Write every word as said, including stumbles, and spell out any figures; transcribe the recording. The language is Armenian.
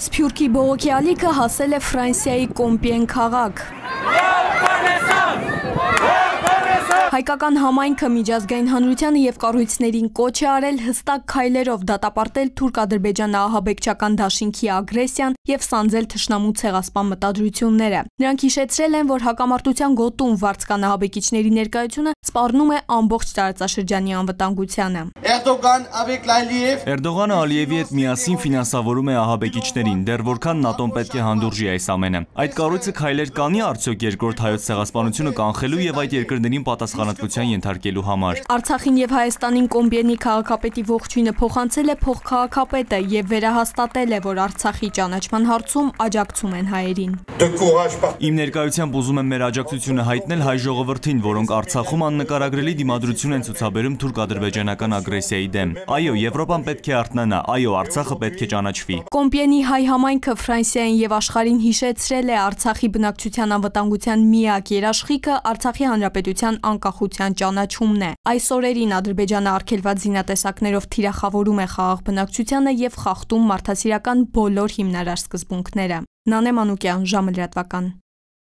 Սփյուռքի բողոքի ալիքը հասել է Ֆրանսիայի Կոմպիեն քաղաք։ Հայկական համայնքը միջազգային հանրությանը եւ կառույցներին կոչ է արել հստակ քայլերով դատապարտել թուրք-ադրբեջան-ահաբեկչական դաշինքի ագրեսիան եւ սանձել թշնամու ցեղասպան մտադրությունները։ Նրանք հիշեցրել են, որ հակամարտության գոտում վարձկան ահաբեկիչների ներկայությունը սպառնում է ամբողջ տարածաշրջանի անվտանգությանը։ Էրդողանը Ալիևի հետ միասին ֆինանսավորում է ահաբեկիչներին, դեռ որքան ՆԱՏՕ-ն պետք է հանդուրժի այս ամենը։ Այդ կառույցը քայլեր կանի արդյոք երկրորդ հայոց ցեղասպանությունը կանխելու եւ այդ երկրներին պատասխանատվության ենթարկելու համար։ Արցախին եւ Հայաստանին Կոմպիենի քաղաքապետի ողջույնը փոխանցել է փոխքաղաքապետը եւ վերահաստատել է, որ Արցախի ճանաչման հարցում աջակցում են հայերին։ Իմ ներկայությամբ ուզում եմ մեր աջակցությունը հայտնել հայ ժողովրդին, որոնք Արցախում աննկարագրելի դիմադրություն են ցուցաբերում թուրք-ադրբեջանական ագրեսիայի դեմ։ Այո, Եվրոպան պետք է արթնանա, այո, Արցախը պետք է ճանաչվի։ Կոմպիենի հայ համայնքը Ֆրանսիային եւ աշխարհին հիշեցրել է Արցախի բնակչության անվտանգության միակ երաշխիքը Արցախի հանրապետության անկախության ճանաչումն է։ Այս օրերին Ադրբեջանը արգելված զինատեսակներով թիրախավորում է խաղաղ բնակչությանը եւ խախտում մարդասիրական բոլոր հիմնարար սկզբունքները։ Նանե Մանուկյան, ժամը լրատվական։